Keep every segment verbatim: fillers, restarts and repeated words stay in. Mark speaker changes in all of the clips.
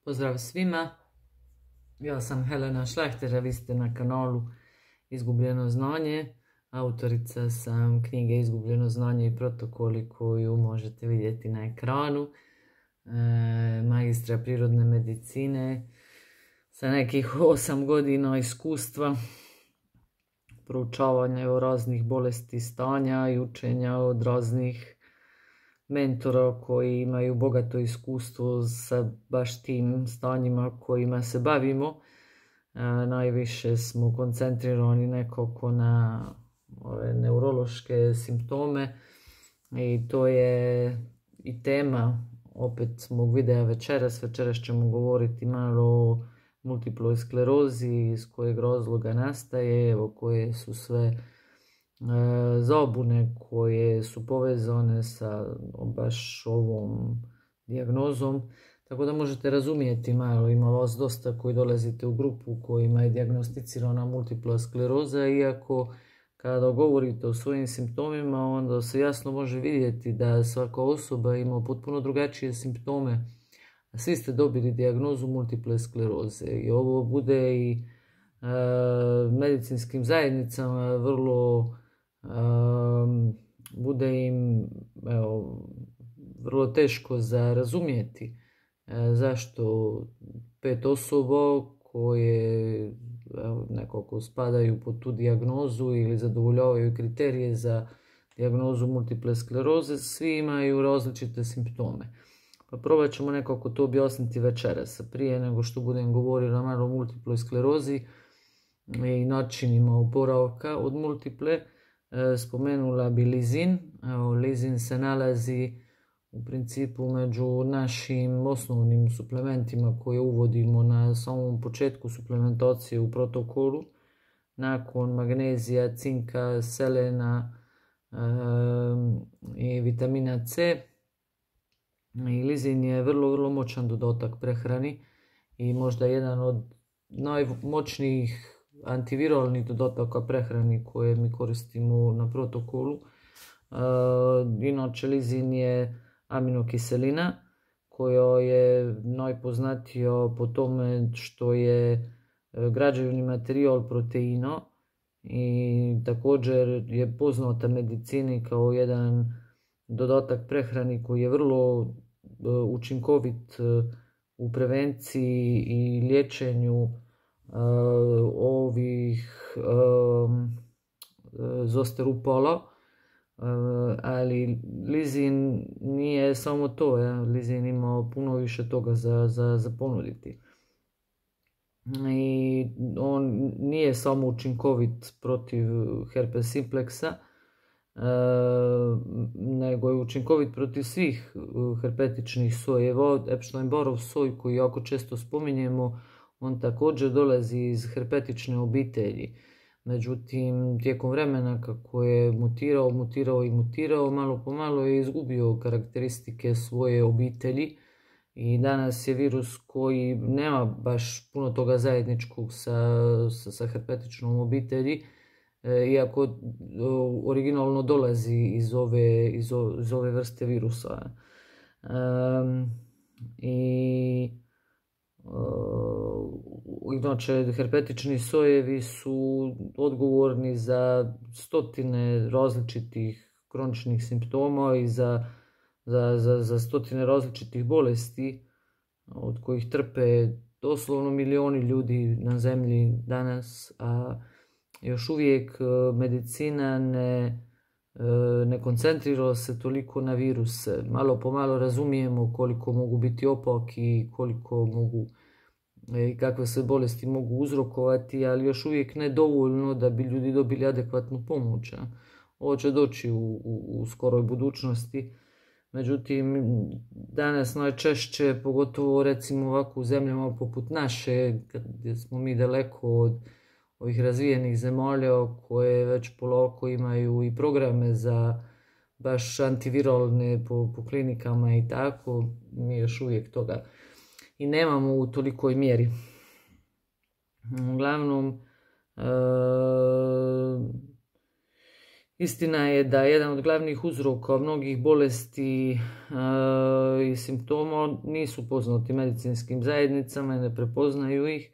Speaker 1: Pozdrav svima, ja sam Helena Šlahter, a vi ste na kanalu Izgubljeno znanje. Autorica sam knjige Izgubljeno znanje i protokoli koju možete vidjeti na ekranu. E, magistra prirodne medicine sa nekih osam godina iskustva, proučavanja raznih bolesti, stanja i učenja od raznih mentora koji imaju bogato iskustvo sa baš tim stanjima kojima se bavimo. E, najviše smo koncentrirani nekako na ove neurološke simptome i to je i tema opet mog videa večeras. Večeras ćemo govoriti malo o multiploj sklerozi, iz kojeg razloga nastaje, evo koje su sve E, zabune koje su povezane sa baš ovom dijagnozom, tako da možete razumjeti malo. Ima vas dosta koji dolazite u grupu kojima je dijagnosticirana multipla skleroza, iako kada govorite o svojim simptomima onda se jasno može vidjeti da svaka osoba ima potpuno drugačije simptome, a svi ste dobili dijagnozu multiple skleroze. I ovo bude i e, medicinskim zajednicama vrlo Um, bude im evo, vrlo teško za razumjeti e, zašto pet osoba koje evo, nekako spadaju pod tu dijagnozu ili zadovoljavaju kriterije za dijagnozu multiple skleroze, svi imaju različite simptome. Pa probat ćemo nekako to objasniti večeras. Prije nego što budem govorila malo o multiploj sklerozi i načinima oporavka od multiple, spomenula bi lizin. Evo, lizin se nalazi u principu među našim osnovnim suplementima koje uvodimo na samom početku suplementacije u protokolu. Nakon magnezija, cinka, selena e, i vitamina C. I lizin je vrlo, vrlo moćan dodatak prehrani i možda jedan od najmoćnijih antiviralnih dodataka prehrani koje mi koristimo na protokolu. E, inače lizin je aminokiselina koja je najpoznatija po tome što je građevni materijal proteina i također je poznata medicini kao jedan dodatak prehrani koji je vrlo učinkovit u prevenciji i liječenju Uh, ovih um, zosterupala, uh, ali lizin nije samo to, ja? Lizin ima puno više toga za, za, za ponuditi. I on nije samo učinkovit protiv herpes simpleksa, uh, nego je učinkovit protiv svih herpetičnih sojeva. Epstein-Barrov soj koji jako često spominjemo, on također dolazi iz herpetične obitelji. Međutim, tijekom vremena kako je mutirao, mutirao i mutirao, malo po malo je izgubio karakteristike svoje obitelji i danas je virus koji nema baš puno toga zajedničkog sa, sa, sa herpetičnom obitelji, e, iako originalno dolazi iz ove, iz ove, iz ove vrste virusa. E, I Inače, herpetični sojevi su odgovorni za stotine različitih kroničnih simptoma i za, za, za, za stotine različitih bolesti od kojih trpe doslovno milioni ljudi na zemlji danas, a još uvijek medicina ne, ne koncentrira se toliko na viruse. Malo po malo razumijemo koliko mogu biti opaki i koliko mogu i kakve se bolesti mogu uzrokovati, ali još uvijek ne dovoljno da bi ljudi dobili adekvatnu pomoć. Ovo će doći u, u, u skoroj budućnosti. Međutim, danas najčešće, pogotovo recimo ovako u zemljama poput naše, gdje smo mi daleko od ovih razvijenih zemalja koje već polako imaju i programe za baš antiviralne po, po klinikama i tako, mi još uvijek toga i nemamo u tolikoj mjeri. Uglavnom, e, Istina je da jedan od glavnih uzroka mnogih bolesti e, i simptoma nisu poznati medicinskim zajednicama i ne prepoznaju ih,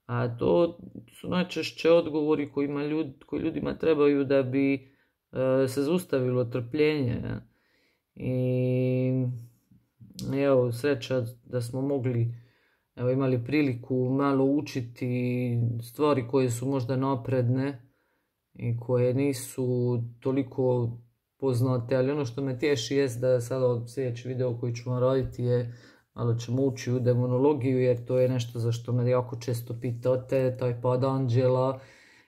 Speaker 1: a to su najčešće odgovori kojima ljud, koji ljudima trebaju da bi e, se zaustavilo trpljenje. I evo, sreća da smo mogli, evo, imali priliku malo učiti stvari koje su možda napredne i koje nisu toliko poznate, ali ono što me tješi jest da sada sljedeći video koji ću vam raditi je malo ćemo ući u demonologiju, jer to je nešto za što me jako često pitate, taj pad anđela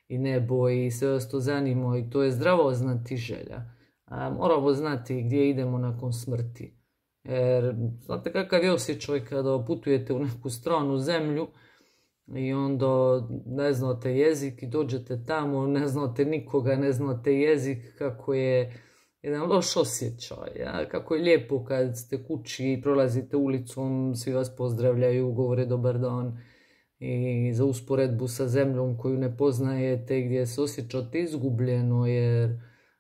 Speaker 1: i nebo i sve vas to zanima i to je zdravo znatiželja. A moramo znati gdje idemo nakon smrti. Jer znate kakav je osjećaj kada putujete u neku stranu zemlju i onda ne znate jezik i dođete tamo, ne znate nikoga, ne znate jezik, kako je jedan loš osjećaj. Ja? Kako je lijepo kad ste kući i prolazite ulicom, svi vas pozdravljaju, govore dobar dan. I za usporedbu sa zemljom koju ne poznajete, gdje se osjećate izgubljeno jer,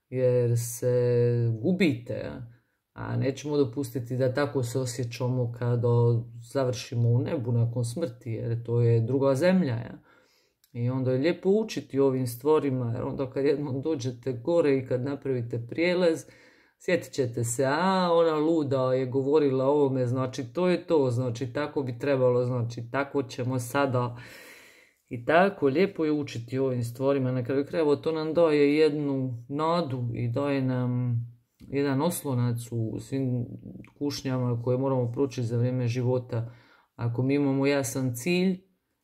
Speaker 1: jer se gubite. Ja? A nećemo dopustiti da tako se osjećamo kada završimo u nebu nakon smrti, jer to je druga zemlja. Ja? I onda je lijepo učiti ovim stvarima, jer onda kad jednom dođete gore i kad napravite prijelaz, sjetit ćete se, a ona luda je govorila o ovome, znači to je to, znači tako bi trebalo, znači tako ćemo sada. I tako, lijepo je učiti ovim stvarima, na kraju krajeva to nam daje jednu nadu i daje nam jedan oslonac u svim kušnjama koje moramo proći za vrijeme života. Ako mi imamo jasan cilj,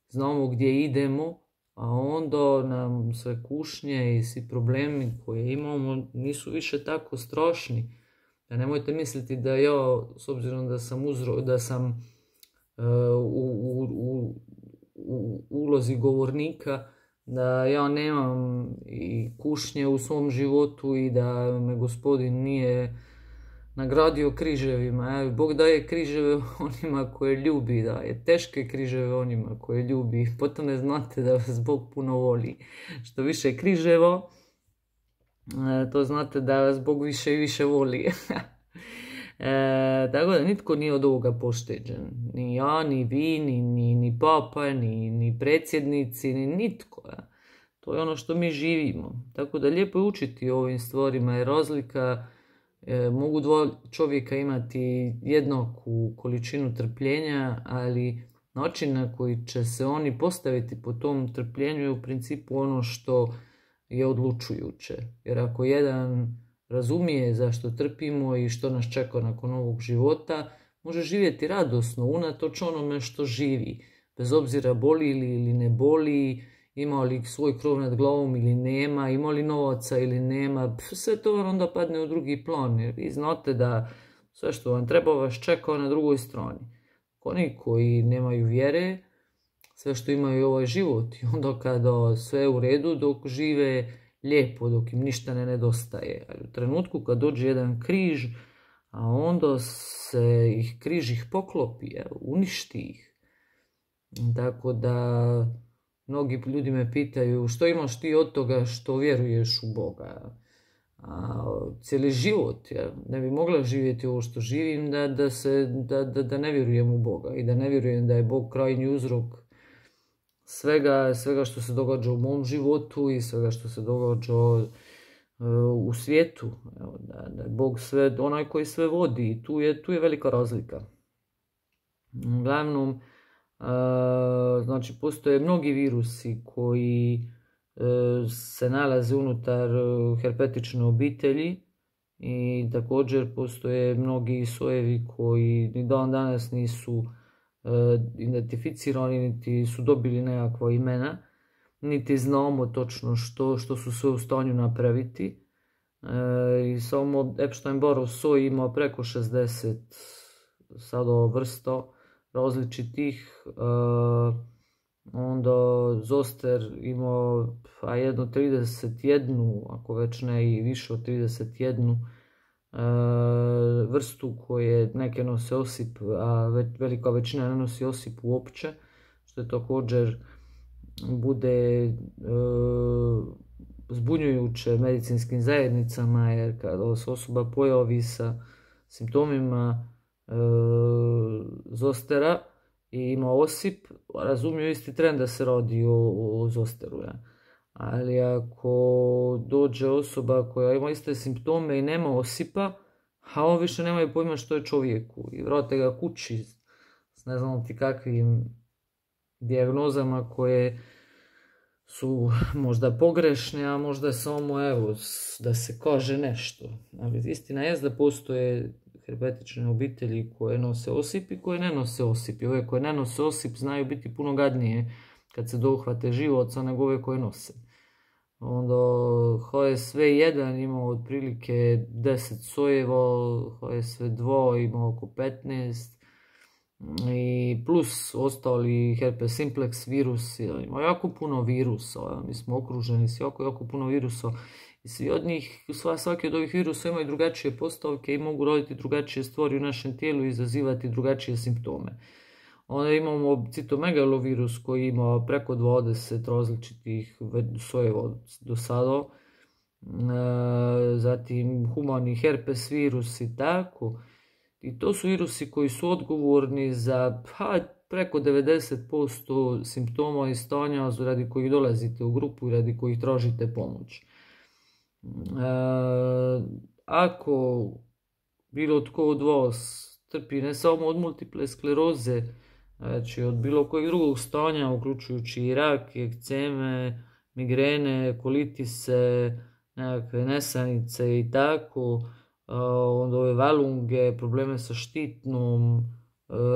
Speaker 1: znamo gdje idemo, a onda nam sve kušnje i svi problemi koje imamo nisu više tako strašni. Da nemojte misliti da ja, s obzirom da sam, uzro, da sam uh, u, u, u, u ulozi govornika, da ja nemam i kušnje u svom životu i da me Gospodin nije nagradio križevima. Bog daje križeve onima koje ljubi, daje teške križeve onima koje ljubi. Potom ne znate da vas Bog puno voli. Što više križeva, to znate da vas Bog više i više voli. E, tako da nitko nije od ovoga pošteđen. Ni ja, ni vi, ni, ni, ni papa, ni, ni predsjednici, ni nitko. Ja. To je ono što mi živimo. Tako da lijepo je učiti o ovim stvarima. Je razlika, e, mogu dva čovjeka imati jednaku količinu trpljenja, ali način na koji će se oni postaviti po tom trpljenju je u principu ono što je odlučujuće. Jer ako jedan razumije zašto trpimo i što nas čeka nakon ovog života, može živjeti radosno, unatoč onome što živi. Bez obzira boli li ili ne boli, ima li svoj krov nad glavom ili nema, ima li novaca ili nema, sve to vam onda padne u drugi plan. Jer vi znate da sve što vam treba vas čeka na drugoj strani. Oni koji nemaju vjere, sve što imaju je ovaj život. I onda kada sve je u redu, dok žive lijepo, dok im ništa ne nedostaje. Ali u trenutku kad dođe jedan križ, a onda se ih križ ih poklopi, uništi ih. Tako da mnogi ljudi me pitaju što imaš ti od toga što vjeruješ u Boga. A, cijeli život, ja ne bi mogla živjeti ovo što živim da, da, se, da, da, da ne vjerujem u Boga i da ne vjerujem da je Bog krajnji uzrok svega, svega što se događa u mom životu i svega što se događa uh, u svijetu. Evo, da, da je Bog sve, onaj koji sve vodi i tu je, tu je velika razlika. Uglavnom, uh, znači postoje mnogi virusi koji uh, se nalaze unutar uh, herpetične obitelji i također postoje mnogi sojevi koji ni dan danas nisu identificirani, niti su dobili nekakva imena, niti znamo točno što, što su sve u stanju napraviti. E, I samo Epstein-Barrov soj ima preko šezdeset sada vrsta različitih. E, onda Zoster ima a jedno trideset jedan, ako već ne i više od trideset jedan vrstu koje neke nose osip, a velika većina ne nosi osip uopće, što je također bude zbunjujuće medicinskim zajednicama, jer kada se osoba pojavi sa simptomima e, zostera i ima osip, razumiju isti tren da se radi o, o zosteru. Ja. Ali ako dođe osoba koja ima iste simptome i nema osipa, a on više nemaju pojma što je čovjeku i vrate ga kući s ne znam ti kakvim dijagnozama koje su možda pogrešne, a možda samo evo da se kaže nešto. Ali istina je da postoje herpetične obitelji koje nose osip i koje ne nose osip. I ove koje ne nose osip znaju biti puno gadnije kad se dohvate života nego ove koje nose. Onda H S V jedan ima otprilike deset sojeva, H S V dva ima oko petnaest i plus ostali herpes simplex virus, ima jako puno virusa, mi smo okruženi s jako, jako puno virusa i svi od njih, svaki od ovih virusa imaju drugačije postavke i mogu roditi drugačije stvari u našem tijelu i izazivati drugačije simptome. Onda imamo citomegalovirus koji ima preko dvadeset različitih sojeva do sada, zatim humani herpes virus i tako. I to su virusi koji su odgovorni za pa, preko devedeset posto simptoma i stanja radi kojih dolazite u grupu i radi kojih tražite pomoć. E, ako bilo tko od vas trpi ne samo od multiple skleroze, znači od bilo kojeg drugog stanja, uključujući i rak, ekceme, migrene, kolitise, nekakve nesanice i tako, onda ove valunge, probleme sa štitnom,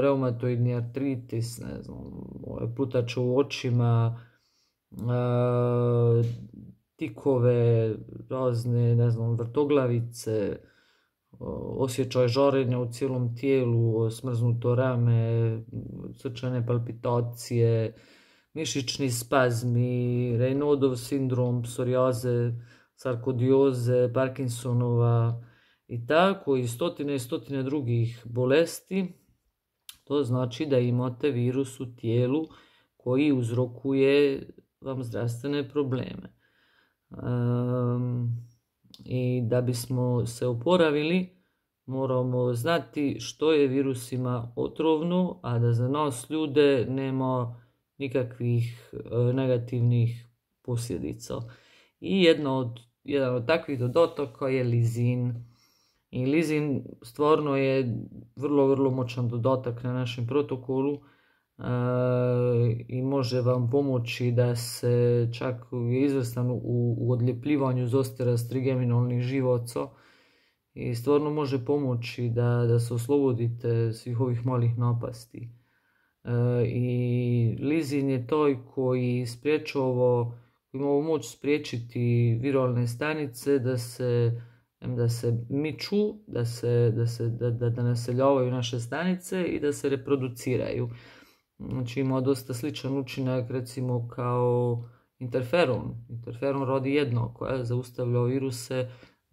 Speaker 1: reumatoidni artritis, ne znam, plutače u očima, tikove, razne, ne znam, vrtoglavice, osjećaj žarenja u cijelom tijelu, smrznuto rame, srčane palpitacije, mišićni spazmi, Raynaudov sindrom, psorijaze, sarkodioze, Parkinsonova i tako i stotine i stotine drugih bolesti. To znači da imate virus u tijelu koji uzrokuje vam zdravstvene probleme. Um, I da bismo se oporavili, moramo znati što je virusima otrovno, a da za nas ljude nema nikakvih e, negativnih posljedica. I jedno od, jedan od takvih dodataka je lizin. I lizin stvarno je vrlo, vrlo moćan dodatak na našem protokolu e, i može vam pomoći da se čak je izvrstan u, u odljepljivanju zostera s trigeminalnih živaca i stvarno može pomoći da, da se oslobodite svih ovih malih napasti. E, I lizin je taj koji spriječava, koji ima moć spriječiti viralne stanice da se da se miču, da, se, da, se, da, da, da naseljavaju naše stanice i da se reproduciraju. Znači ima dosta sličan učinak recimo kao interferon. Interferon radi jednako, je, zaustavlja viruse,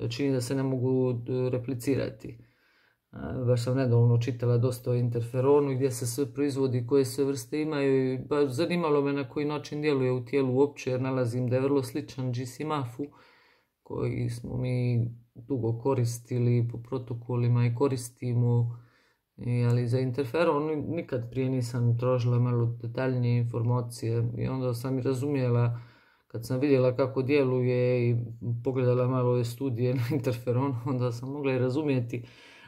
Speaker 1: čini da se ne mogu replicirati. Baš sam nedavno čitala dosta o interferonu gdje se sve proizvodi, koje sve vrste imaju i baš zanimalo me na koji način djeluje u tijelu uopće, jer nalazim da je vrlo sličan G C M A F-u koji smo mi dugo koristili po protokolima i koristimo, I, ali za interferon nikad prije nisam tražila malo detaljnije informacije i onda sam i razumjela kad sam vidjela kako djeluje i pogledala malo ove studije na interferon, onda sam mogla i razumjeti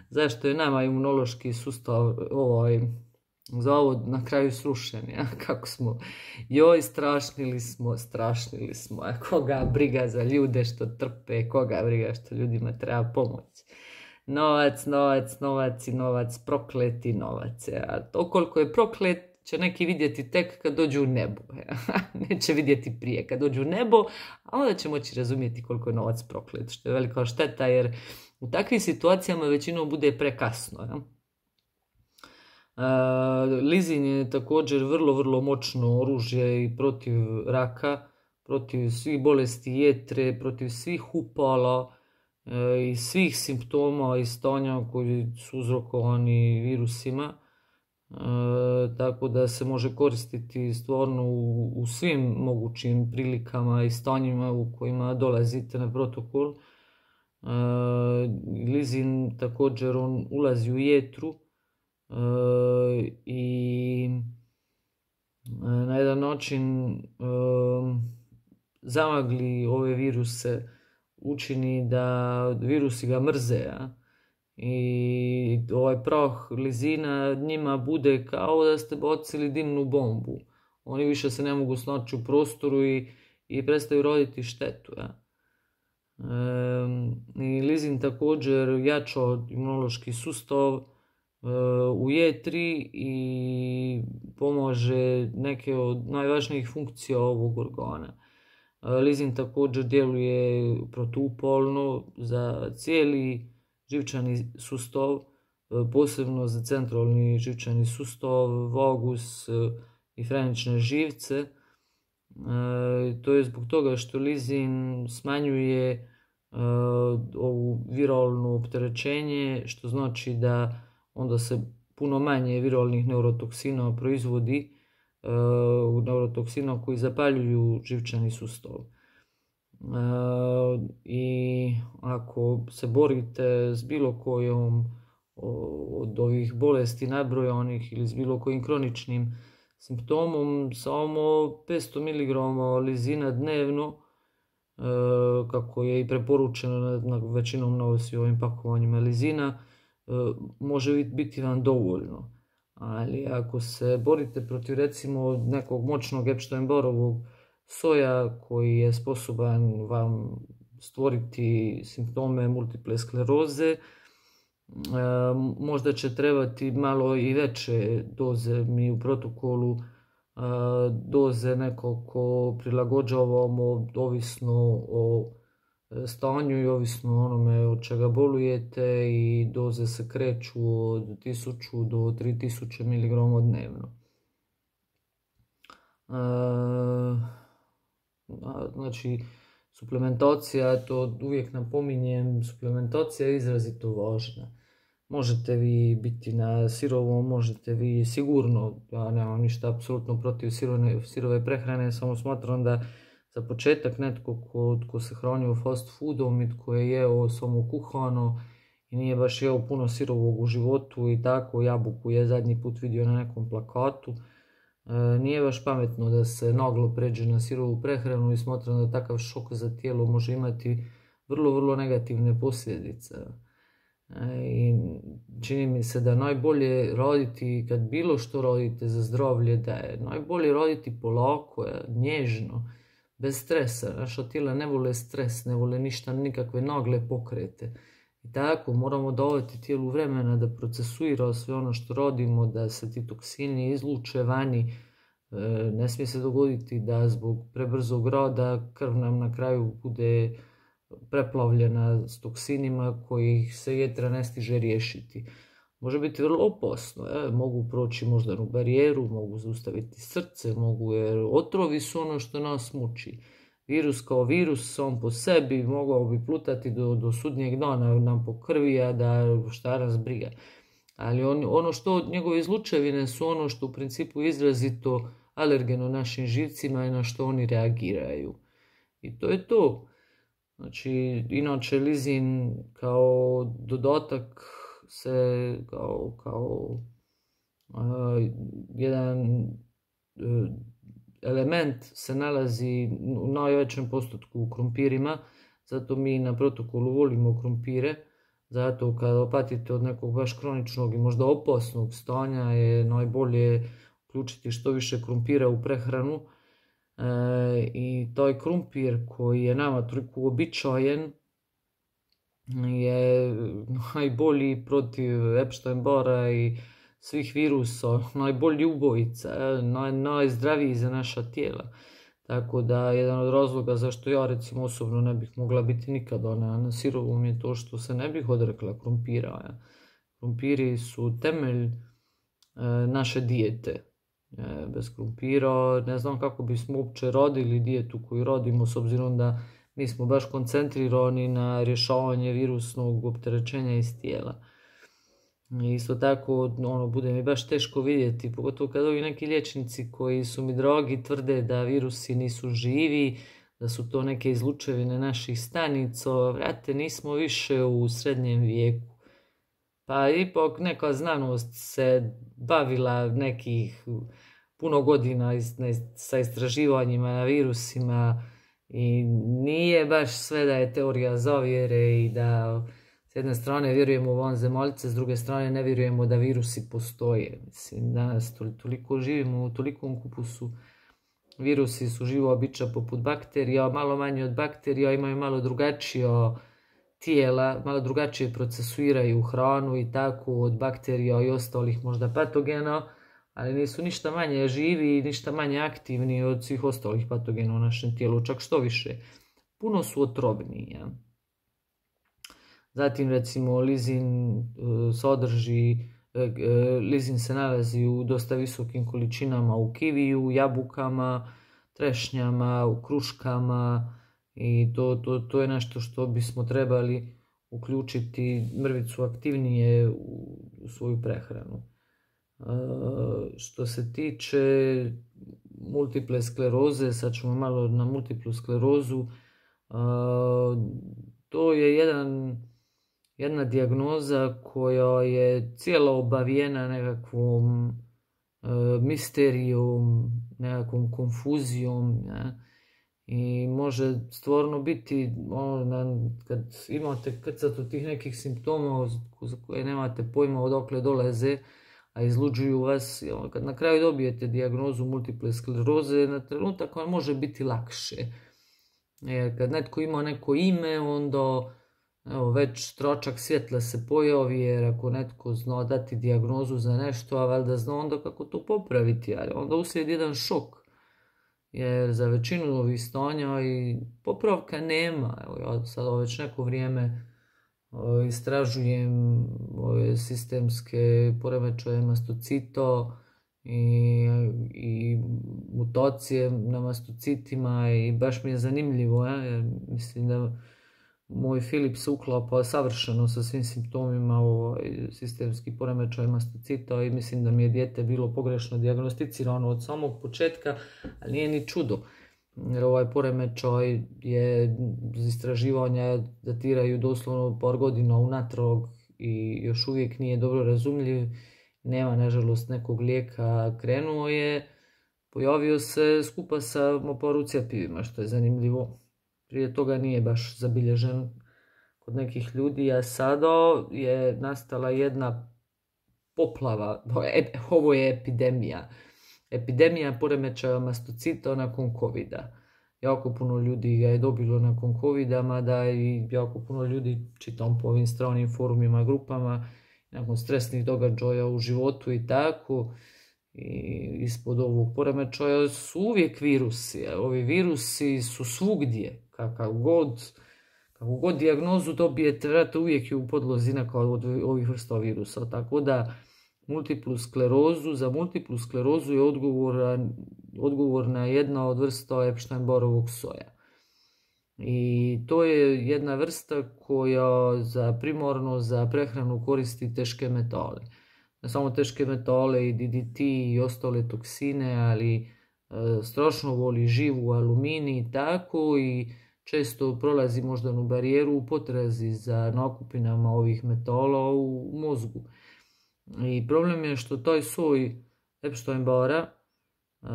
Speaker 1: zašto je nama imunološki sustav ovaj zavod na kraju srušen, ja? Kako smo, joj strašnili smo, strašnili smo, a koga briga za ljude što trpe, koga briga što ljudima treba pomoć. Novac, novac, novac i novac, prokleti novac. A to koliko je proklet će neki vidjeti tek kad dođu u nebo. Ja? Neće vidjeti prije kad dođu u nebo, a onda će moći razumjeti koliko je novac proklet, što je velika šteta jer u takvim situacijama većinom bude prekasno. Ja? Uh, lizin je također vrlo, vrlo moćno oružje i protiv raka, protiv svih bolesti jetre, protiv svih upala uh, i svih simptoma i stanja koji su uzrokovani virusima. E, tako da se može koristiti stvarno u, u svim mogućim prilikama i stanjima u kojima dolazite na protokol. E, lizin također on ulazi u jetru e, i na jedan način e, zamagli ove viruse, učini da virusi ga mrze, a? I ovaj prah lizina njima bude kao da ste bacili dimnu bombu. Oni više se ne mogu snaći u prostoru i, i prestaju roditi štetu. Ja. E, i lizin također jača imunološki sustav e, u jetri i pomaže neke od najvažnijih funkcija ovog organa. E, lizin također djeluje protupolno za cijeli živčani sustav, posebno za centralni živčani sustav, vagus i frenične živce. E, to je zbog toga što lizin smanjuje e, ovu viralno opterećenje, što znači da onda se puno manje viralnih neurotoksina proizvodi, e, neurotoksina koji zapaljuju živčani sustav. Uh, i ako se borite s bilo kojom od ovih bolesti nabrojanih ili s bilo kojim kroničnim simptomom, samo petsto miligrama lizina dnevno, uh, kako je i preporučeno na, na većinom na ovim pakovanjima lizina, uh, može biti vam dovoljno. Ali ako se borite protiv recimo nekog moćnog Epstein-Barrovog soja koji je sposoban vam stvoriti simptome multiple skleroze, možda će trebati malo i veće doze. Mi u protokolu doze nekoliko prilagođavamo ovisno o stanju i ovisno o onome od čega bolujete i doze se kreću od tisuću do tri tisuće miligrama dnevno. Znači, suplementacija, to uvijek napominjem, suplementacija je izrazito važna. Možete vi biti na sirovom, možete vi sigurno, ja nemam ništa apsolutno protiv sirove, sirove prehrane, samo smatram da za početak netko ko, ko se hranio fast foodom i tko je jeo samo kuhano i nije baš jeo puno sirovog u životu i tako, jabuku je zadnji put vidio na nekom plakatu, nije baš pametno da se naglo pređe na sirovu prehranu i smatram da takav šok za tijelo može imati vrlo, vrlo negativne posljedice. I čini mi se da najbolje raditi, kad bilo što radite za zdravlje, da je najbolje raditi polako, nježno, bez stresa. Naša tijela ne vole stres, ne vole ništa, nikakve nagle pokrete. I tako moramo davati tijelu vremena da procesuira sve ono što radimo, da se ti toksini izluče vani. Ne smije se dogoditi da zbog prebrzog rada krv nam na kraju bude preplavljena s toksinima kojih se jetra ne stiže riješiti. Može biti vrlo opasno, je? Mogu proći moždanu barijeru, mogu zaustaviti srce, mogu, jer otrovi su ono što nas muči. Virus kao virus sam po sebi mogao bi plutati do, do sudnjeg dana nam po krvi, a da šta nas briga. Ali on, ono što njegove izlučevine su ono što u principu izrazito alergeno našim živcima i na što oni reagiraju. I to je to. Znači, inače lizin kao dodatak se kao, kao uh, jedan uh, element se nalazi u najvećem postotku u krumpirima, zato mi na protokolu volimo krumpire, zato kada patite od nekog baš kroničnog i možda opasnog stanja je najbolje uključiti što više krumpira u prehranu. E, i taj krumpir koji je nama toliko uobičajen je najbolji protiv Epstein-Barra i svih virusa, najbolji ubojica, naj, najzdraviji za naša tijela. Tako da jedan od razloga zašto ja recimo osobno ne bih mogla biti nikada na, na sirovom je to što se ne bih odrekla krumpira. Ja. Krumpiri su temelj e, naše dijete. E, bez krumpira ne znam kako bismo uopće radili dijetu koju radimo, s obzirom da mi smo baš koncentrirani na rješavanje virusnog opterećenja iz tijela. I isto tako, ono, bude mi baš teško vidjeti, pogotovo kad ovi neki liječnici koji su mi drogi tvrde da virusi nisu živi, da su to neke izlučevine naših stanica. Vrate, nismo više u srednjem vijeku. Pa ipak neka znanost se bavila nekih puno godina sa istraživanjima na virusima i nije baš sve da je teorija zavjere i da s jedne strane vjerujemo u vanzemaljce, s druge strane ne vjerujemo da virusi postoje. Mislim, danas toliko živimo u tolikom kupusu. Virusi su živa bića poput bakterija, malo manje od bakterija, imaju malo drugačije tijela, malo drugačije procesuiraju hranu i tako od bakterija i ostalih možda patogena, ali nisu ništa manje živi i ništa manje aktivni od svih ostalih patogena u našem tijelu, čak što više. Puno su otrovniji. Ja? Zatim recimo lizin sadrži, lizin se nalazi u dosta visokim količinama u kiviju, jabukama, trešnjama, u kruškama i to, to, to je nešto što bismo trebali uključiti mrvicu aktivnije u, u svoju prehranu. E, što se tiče multiple skleroze, sad ćemo malo na multiplu sklerozu, e, to je jedan jedna dijagnoza koja je cijela obavijena nekakvom e, misterijom, nekakvom konfuzijom, ja? I može stvarno biti, ono, kad imate krcat od tih nekih simptoma za koje nemate pojma odakle dolaze, a izluđuju vas, ja? Kad na kraju dobijete dijagnozu multiple skleroze, na trenutak vam može biti lakše. Jer kad netko ima neko ime, onda evo, već tročak svjetla se pojavi, jer ako netko zna dati dijagnozu za nešto, a valjda zna onda kako to popraviti, ali onda uslijedi jedan šok. Jer za većinu ovih stanja i popravka nema. Evo, ja sad već neko vrijeme o, istražujem ove sistemske poremećaje mastocita i, i mutacije na mastocitima i baš mi je zanimljivo, ja? Jer mislim da moj Filip se uklapa savršeno sa svim simptomima ovaj, sistemski poremećaj mastocita i mislim da mi je dijete bilo pogrešno dijagnosticirano od samog početka, ali nije ni čudo. Jer ovaj poremećaj je istraživanja datiraju doslovno par godina unatrag i još uvijek nije dobro razumljiv. Nema, nažalost, nekog lijeka. Krenuo je, pojavio se skupa sa moparu cjepivima, što je zanimljivo. Prije toga nije baš zabilježen kod nekih ljudi, a sada je nastala jedna poplava, ovo je epidemija. Epidemija poremećaja mastocita nakon covida. Jako puno ljudi ga je dobilo nakon covida, mada i jako puno ljudi, čitam po ovim stranim forumima, grupama, nakon stresnih događaja u životu i tako, i ispod ovog poremećaja su uvijek virusi. Ovi virusi su svugdje. Kakav god, kakvu god dijagnozu dobijete, vrate, uvijek je u podlozi neka od ovih vrsta virusa. Tako da multiplu sklerozu, za multiplu sklerozu je odgovorna, odgovorna jedna od vrsta Epstein-Barrovog soja. I to je jedna vrsta koja za primarno za prehranu koristi teške metale. Ne samo teške metale i D D T i ostale toksine, ali e, strašno voli živu aluminij i tako i često prolazi moždanu barijeru u potrazi za nakupinama ovih metala u mozgu. I problem je što taj soj Epstein-Barra, uh,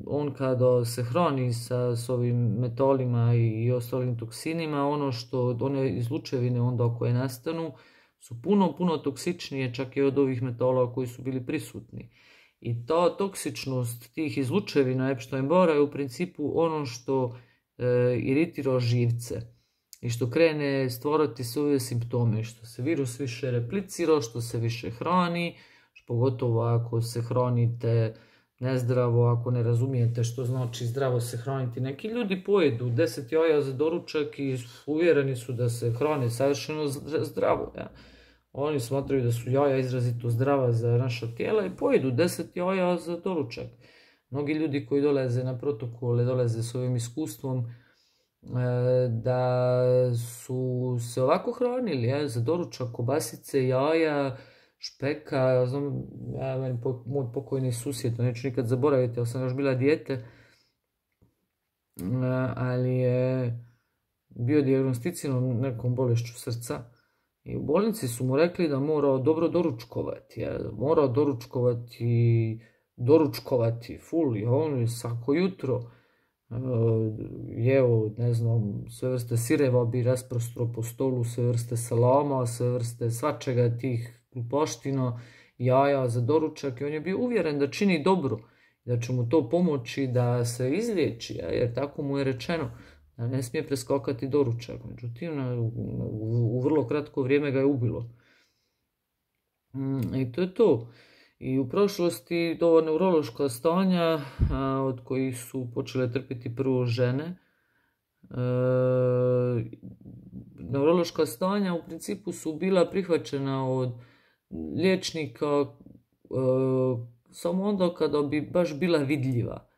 Speaker 1: on kada se hrani sa s ovim metalima i, i ostalim toksinima, ono što one izlučevine onda koje nastanu su puno, puno toksičnije čak i od ovih metala koji su bili prisutni. I ta toksičnost tih izlučevina Epstein-Barra je u principu ono što iritira živce i što krene stvarati svoje simptome, što se virus više replicira, što se više hrani, pogotovo ako se hranite nezdravo, ako ne razumijete što znači zdravo se hraniti. Neki ljudi pojedu deset jaja za doručak i uvjereni su da se hrane savršeno zdravo. Ja. Oni smatraju da su jaja izrazito zdrava za naša tijela i pojedu deset jaja za doručak. Mnogi ljudi koji dolaze na protokole, dolaze s ovim iskustvom da su se ovako hranili, ja, za doručak, kobasice, jaja, špeka. Ja znam, ja, meni, moj pokojni susjed, to neću nikad zaboraviti, ali sam još bila dijete, ali je bio dijagnosticiran nekom bolešću srca i u bolnici su mu rekli da mora dobro doručkovati, ja, mora doručkovati, doručkovati full, i on je svako jutro jeo, ne znam, sve vrste sireva bi rasprostro po stolu, sve vrste salama, sve vrste svačega tih glupoština, jaja za doručak, i on je bio uvjeren da čini dobro, da će mu to pomoći da se izliječi, jer tako mu je rečeno, da ne smije preskokati doručak. Međutim, u vrlo kratko vrijeme ga je ubilo. I to je to. I u prošlosti to neurološka stanja od kojih su počele trpiti prvo žene, neurološka stanja u principu su bila prihvaćena od liječnika samo onda kada bi baš bila vidljiva.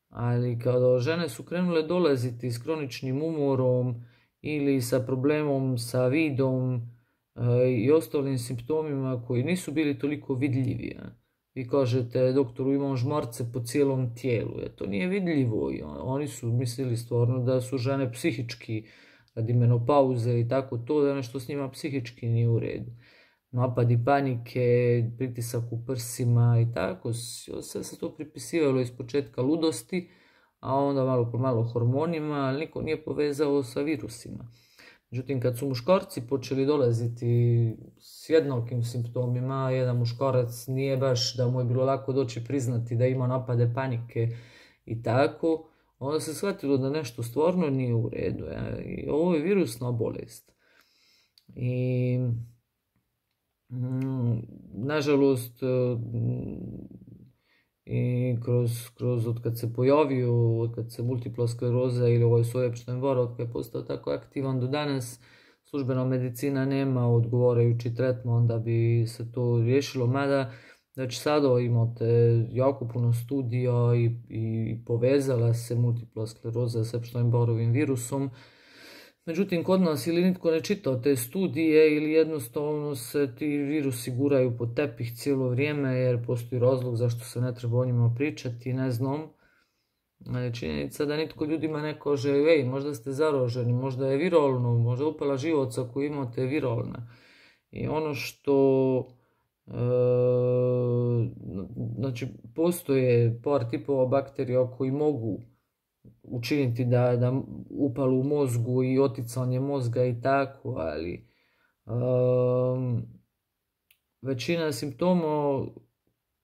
Speaker 1: Ali kada žene su krenule dolaziti s kroničnim umorom ili sa problemom sa vidom i ostalim simptomima koji nisu bili toliko vidljivi. Vi kažete, doktoru, imam žmarce po cijelom tijelu. To nije vidljivo. Oni su mislili stvarno da su žene psihički radi menopauze i tako to, da nešto s njima psihički nije u redu. Napadi panike, pritisak u prsima i tako. Sve se to pripisivalo iz početka ludosti, a onda malo po malo hormonima, ali niko nije povezao sa virusima. Međutim, kad su muškarci počeli dolaziti s jednakim simptomima, jedan muškarac nije baš da mu je bilo lako doći priznati da ima napade panike i tako, onda se shvatilo da nešto stvarno nije u redu. Ja? I ovo je virusna bolest. I mm, nažalost, i kroz, kroz od kad se pojavio, od kad se multipla skleroza ili ovaj Epstein-Barr, od kad je postao tako aktivan do danas, službena medicina nema odgovarajući tretman da bi se to riješilo, mada znači sada imate jako puno studija i, i povezala se multipla skleroza s Epstein-Barrovim virusom. Međutim, kod nas ili nitko ne čita te studije ili jednostavno se ti virusi guraju pod tepih cijelo vrijeme jer postoji razlog zašto se ne treba o njima pričati, ne znam. Činjenica da nitko ljudima ne kaže, ej, možda ste zaraženi, možda je viralno, možda upala živaca koju imate je viralna. I ono što, e, znači, postoje par tipova bakterija koji mogu učiniti da, da upalu u mozgu i oticanje mozga i tako, ali um, većina simptoma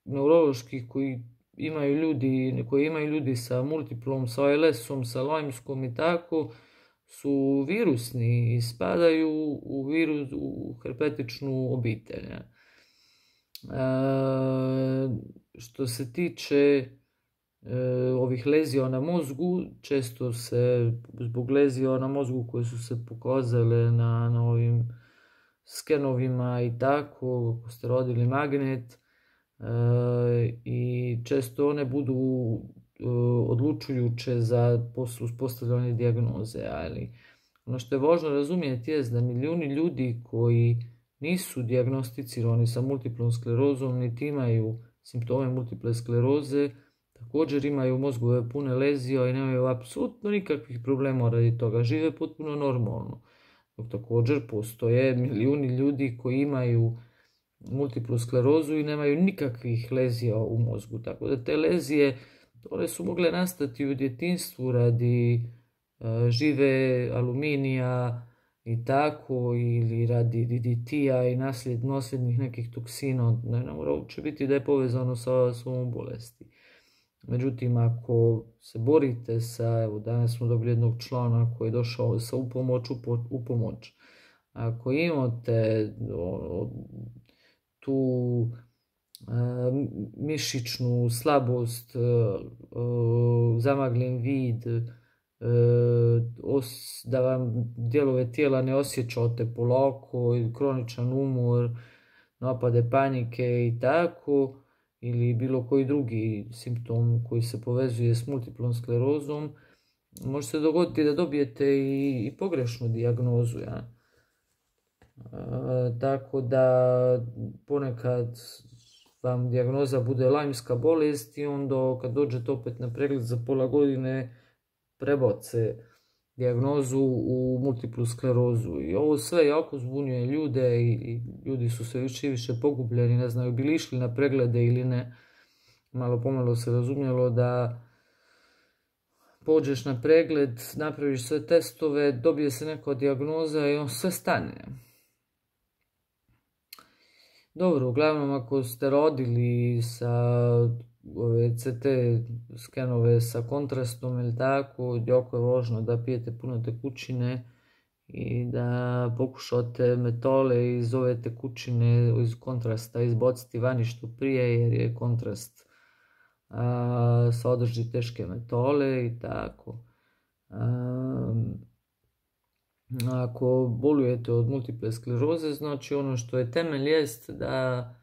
Speaker 1: neuroloških koji imaju ljudi, koji imaju ljudi sa multiplom, sa A L S-om, sa Lyme-skom i tako, su virusni i spadaju u, virus, u herpetičnu obitelj. E, što se tiče ovih lezija na mozgu, često se zbog lezija na mozgu koje su se pokazale na, na ovim skenovima i tako, ako ste rodili magnet, e, i često one budu e, odlučujuće za uspostavljanje dijagnoze, ali ono što je važno razumjeti je da milijuni ljudi koji nisu dijagnosticirani sa multiplom sklerozom niti imaju simptome multiple skleroze, također imaju mozgove pune lezija i nemaju apsolutno nikakvih problema radi toga, žive potpuno normalno. Dok također postoje milijuni ljudi koji imaju multiplu sklerozu i nemaju nikakvih lezija u mozgu. Tako da te lezije, one su mogle nastati u djetinjstvu radi uh, žive aluminija i tako, ili radi D D T-a i nasled, nasljednih nekih toksina. Ne, ne mora uopće biti da je povezano sa svom bolesti. Međutim, ako se borite sa, evo danas smo dobili jednog člana koji je došao sa upomoć, upo, upomoć. Ako imate o, tu a, mišićnu slabost, a, a, zamagljen vid, a, os, da vam dijelove tijela ne osjećate polako, kroničan umor, napade panike i tako, ili bilo koji drugi simptom koji se povezuje s multiplom sklerozom, može se dogoditi da dobijete i, i pogrešnu dijagnozu. Ja? Tako da ponekad vam dijagnoza bude lajmska bolest i onda kad dođete opet na pregled za pola godine prebace dijagnozu u multiplu sklerozu. I ovo sve jako zbunjuje ljude i ljudi su sve više i više pogubljeni, ne znaju bi li išli na preglede ili ne. Malo pomalo se razumjelo da pođeš na pregled, napraviš sve testove, dobije se neka dijagnoza i on sve stane. Dobro, uglavnom ako ste rodili sa ove C T skenove sa kontrastom ili tako, jako je važno da pijete puno tekućine i da pokušate metole iz ove tekućine, iz kontrasta izbaciti vani što prije, jer je kontrast a, sadrži teške metole i tako. A, Ako bolujete od multiple skleroze, znači ono što je temelj jest da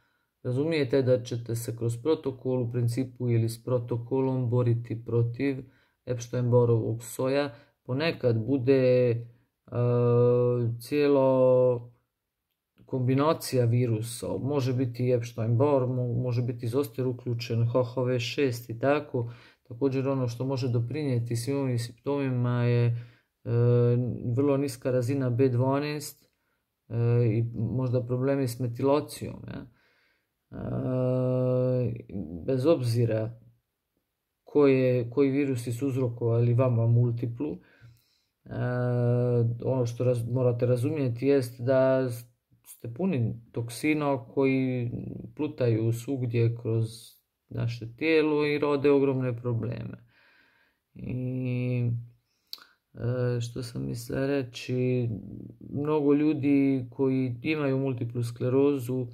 Speaker 1: razumijete da ćete se kroz protokol u principu ili s protokolom boriti protiv Epstein-Barrovog soja. Ponekad bude uh, cijelo kombinacija virusa, može biti Epstein-Barr, može biti zoster uključen, H H V šest i tako. Također ono što može doprinijeti svim ovim simptomima je E, vrlo niska razina B dvanaest e, i možda problemi s metilacijom. Ja. E, bez obzira koje, koji virusi su uzrokovali vama multiplu, e, ono što raz, morate razumjeti jest da ste puni toksina koji plutaju svugdje kroz naše tijelo i rode ogromne probleme. I što sam mislila reći, mnogo ljudi koji imaju multiplu sklerozu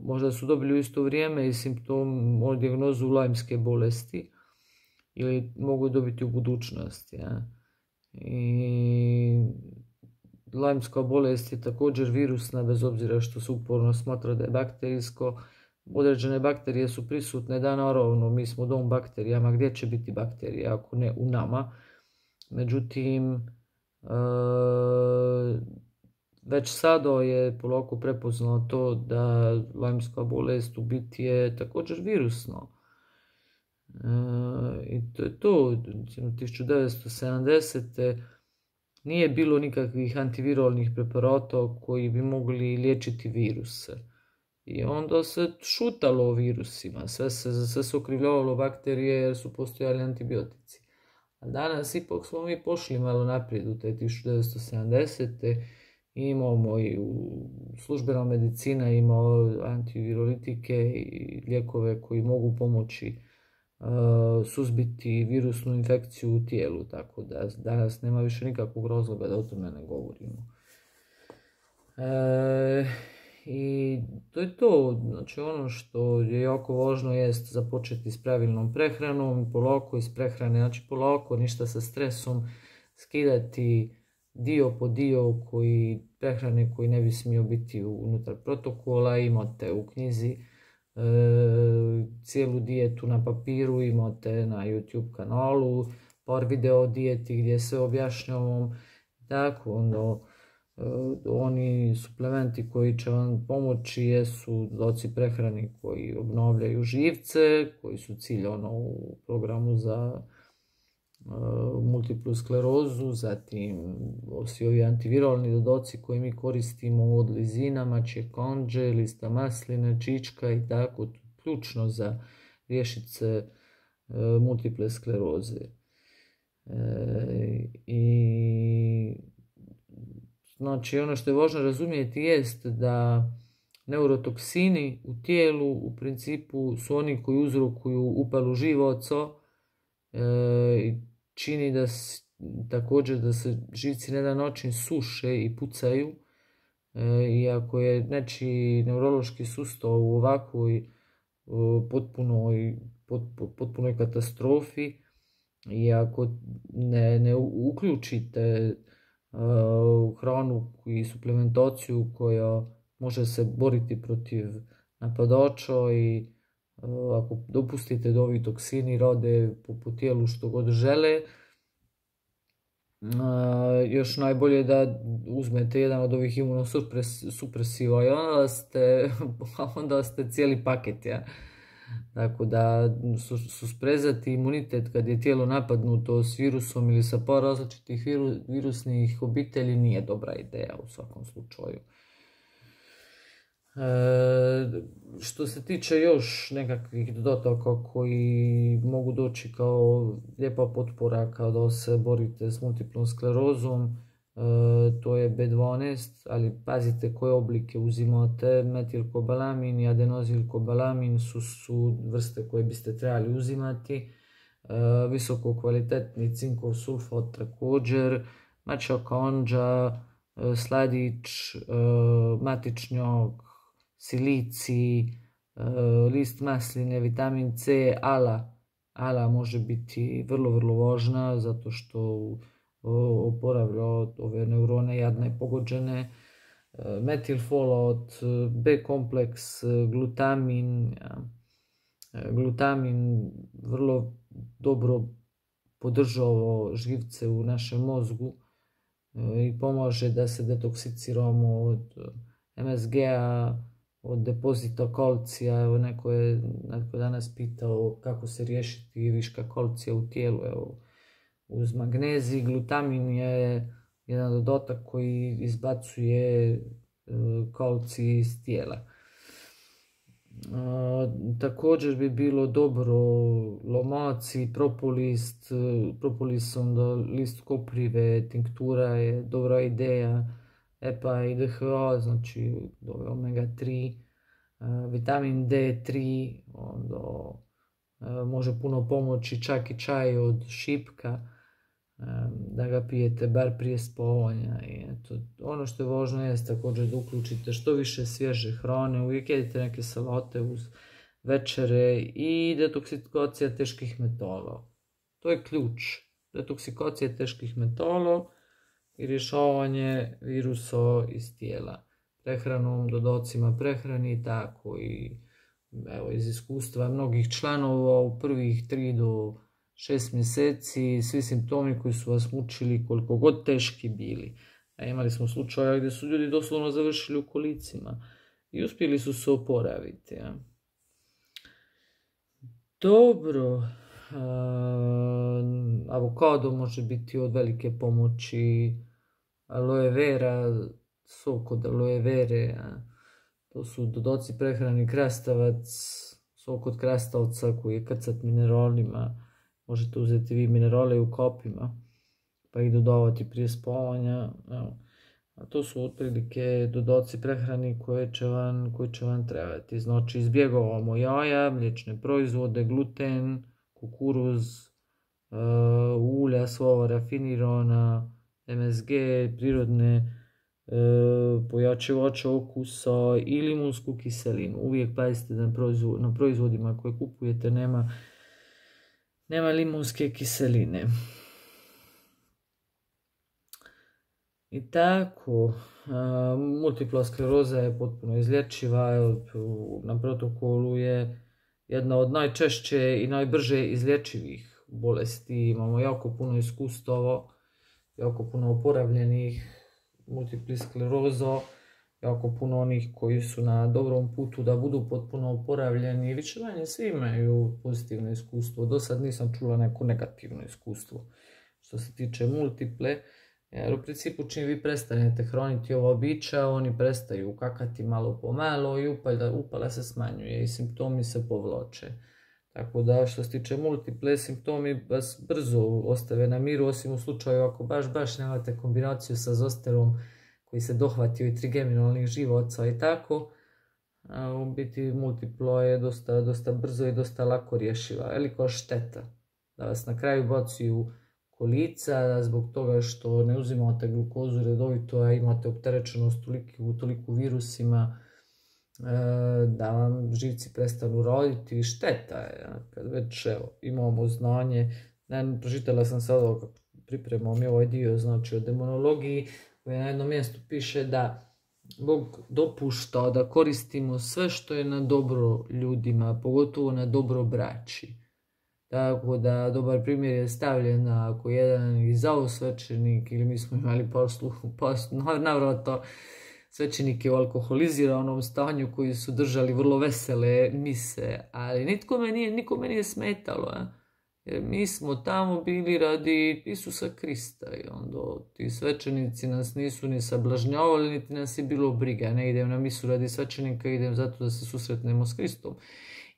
Speaker 1: možda su dobili u isto vrijeme i simptom, dijagnozu lajmske bolesti ili mogu dobiti u budućnosti. Ja. I lajmska bolest je također virusna, bez obzira što se uporno smatra da je bakterijsko. Određene bakterije su prisutne, da naravno mi smo dom bakterijama, gdje će biti bakterije ako ne u nama. Međutim, već sada je polako prepoznalo to da lajmska bolest u biti je također virusno. I to je to. tisuću devetsto sedamdesete nije bilo nikakvih antiviralnih preparata koji bi mogli liječiti viruse. I onda se šutalo o virusima, sve se, sve se okrivljavalo bakterije jer su postojali antibiotici. A danas ipak smo mi pošli malo naprijed u te tisuću devetsto sedamdesete. Imamo i u službena medicina ima antivirolitike i lijekove koji mogu pomoći uh, suzbiti virusnu infekciju u tijelu, tako da danas nema više nikakvog razloga da o tome ne govorimo. E, I to je to. Znači ono što je jako važno jest započeti s pravilnom prehranom, polako iz prehrane, znači polako, ništa sa stresom, skidati dio po dio koji, prehrane koji ne bi smio biti unutar protokola. Imate u knjizi e, cijelu dijetu na papiru, imate na YouTube kanalu par video o dijeti gdje se objašnjavam. Tako onda oni suplementi koji će vam pomoći jesu doci prehrani koji obnavljaju živce, koji su cilj ono u programu za uh, multiplu sklerozu, zatim svi ovi antiviralni dodaci koji mi koristimo od lizina, mačje konđe, lista masline, čička i tako, ključno za riješiti se uh, multiple skleroze. E, i Znači, ono što je važno razumjeti jest da neurotoksini u tijelu u principu su oni koji uzrokuju upalu živaca i čini da s, također da se živci na jedan način suše i pucaju. E, I ako je nečiji neurološki sustav u ovakvoj potpunoj, pot, potpunoj katastrofi i ako ne, ne uključite u hranu i suplementaciju koja može se boriti protiv napadača i ako dopustite da ovi toksini rade po, po tijelu što god žele, još najbolje da uzmete jedan od ovih imunosupresiva i onda ste, onda ste cijeli paket, ja. Tako da susprezati imunitet kad je tijelo napadnuto s virusom ili sa par različitih virusnih obitelji nije dobra ideja u svakom slučaju. E, što se tiče još nekakvih dodataka koji mogu doći kao lijepa potpora kada se borite s multiplom sklerozom, e, to je be dvanaest, ali pazite koje oblike uzimate. Metilkobalamin i adenozilkobalamin su, su vrste koje biste trebali uzimati. E, visoko kvalitetni cinkov sulfat također, mačaka ondža, sladić, e, matičnjak, silicij, list masline, vitamin C, ala. Ala može biti vrlo, vrlo važna zato što oporavlja ove neurone jadne i pogođene. Metilfolat, B kompleks, glutamin. Glutamin vrlo dobro podržava živce u našem mozgu i pomaže da se detoksiciramo od em es ge-a, od depozita kalcija. Evo, neko je, neko danas pitao kako se riješiti viška kalcija u tijelu. Evo, uz magnezij, glutamin je jedan dodatak koji izbacuje kalcij iz tijela. A, također bi bilo dobro lomaci, propolis, propolis, onda list koprive, tinktura je dobra ideja. E pa i de ha a, znači omega tri, vitamin de tri, onda može puno pomoći čak i čaj od šipka, da ga pijete bar prije spavanja. I eto, ono što je važno je također da uključite što više svježe hrane, uvijek jedite neke salate uz večere i detoksikacija teških metala. To je ključ, detoksikacija teških metala i rješavanje virusa iz tijela. Prehranom, dodacima prehrani, tako i evo, iz iskustva mnogih članova u prvih tri do šest mjeseci svi simptomi koji su vas mučili koliko god teški bili. A imali smo slučaje gdje su ljudi doslovno završili u kolicima i uspjeli su se oporaviti. Ja. Dobro. Uh, avokado može biti od velike pomoći, aloe vera, sok od aloe vere, to su dodaci prehrani, krastavac, sok od krastavca koji je krcat mineralima, možete uzeti vi minerale u kopima pa ih dodavati prije spavanja. Evo. A to su otprilike dodaci prehrani koje će vam, koje će vam trebati. Znači izbjegavamo jaja, mliječne proizvode, gluten, kukuruz, uh, ulja, sva rafinirana, em es ge, prirodne uh, pojačivače okusa i limunsku kiselinu. Uvijek pazite da na, proizvod, na proizvodima koje kupujete nema, nema limunske kiseline. I tako, uh, multipla skleroza je potpuno izlječiva, na protokolu je jedna od najčešće i najbrže izlječivih bolesti. Imamo jako puno iskustava, jako puno oporavljenih multipli skleroza, jako puno onih koji su na dobrom putu da budu potpuno oporavljeni. Više manje svi imaju pozitivno iskustvo. Do sad nisam čula neko negativno iskustvo što se tiče multiple. Jer u principu čim vi prestanete hraniti ova bića, oni prestaju kakati malo po malo i upala, upala se smanjuje i simptomi se povlače. Tako da što se tiče multiple, simptomi vas brzo ostave na miru, osim u slučaju ako baš baš nemate kombinaciju sa zosterom koji se dohvatio i trigeminalnih živaca i tako. A u biti multiplo je dosta, dosta brzo i dosta lako rješiva. Veliko šteta da vas na kraju bacuju kolica zbog toga što ne uzimate glukozu redovito, a imate opterećenost toliko, toliko virusima da vam živci prestanu raditi. Šteta je, kad već evo, imamo znanje. Ne, pročitala sam sada kako pripremam ovaj dio, znači o demonologiji, koji na jednom mjestu piše da Bog dopušta da koristimo sve što je na dobro ljudima, pogotovo na dobro braći. Tako da dobar primjer je stavljen ako jedan i zao svećenik, ili mi smo imali posluhu, navratno svećenike u alkoholiziranom stanju koji su držali vrlo vesele mise, ali nikome nije, nikome nije smetalo, a? Jer mi smo tamo bili radi Isusa Krista i onda ti svećenici nas nisu ni sablažnjavali, niti nas je bilo briga. Ne idem na misu radi svećenika, idem zato da se susretnemo s Kristom.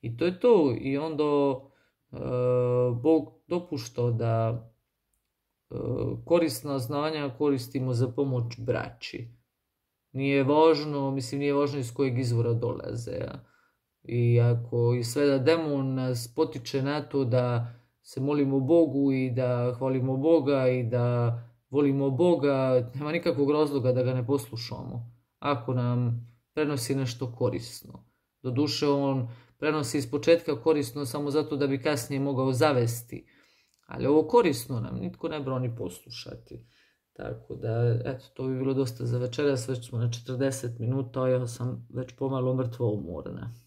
Speaker 1: I to je to. I onda e, Bog dopušta da e, korisna znanja koristimo za pomoć braći. Nije važno, mislim, nije važno iz kojeg izvora dolaze. A? I ako i sve da demon nas potiče na to da se molimo Bogu i da hvalimo Boga i da volimo Boga, nema nikakvog razloga da ga ne poslušamo. Ako nam prenosi nešto korisno. Doduše on prenosi iz početka korisno samo zato da bi kasnije mogao zavesti. Ali ovo korisno nam nitko ne brani poslušati. Tako da, eto, to bi bilo dosta za večeras. Već smo na četrdeset minuta, a ja sam već pomalo mrtvo umorna.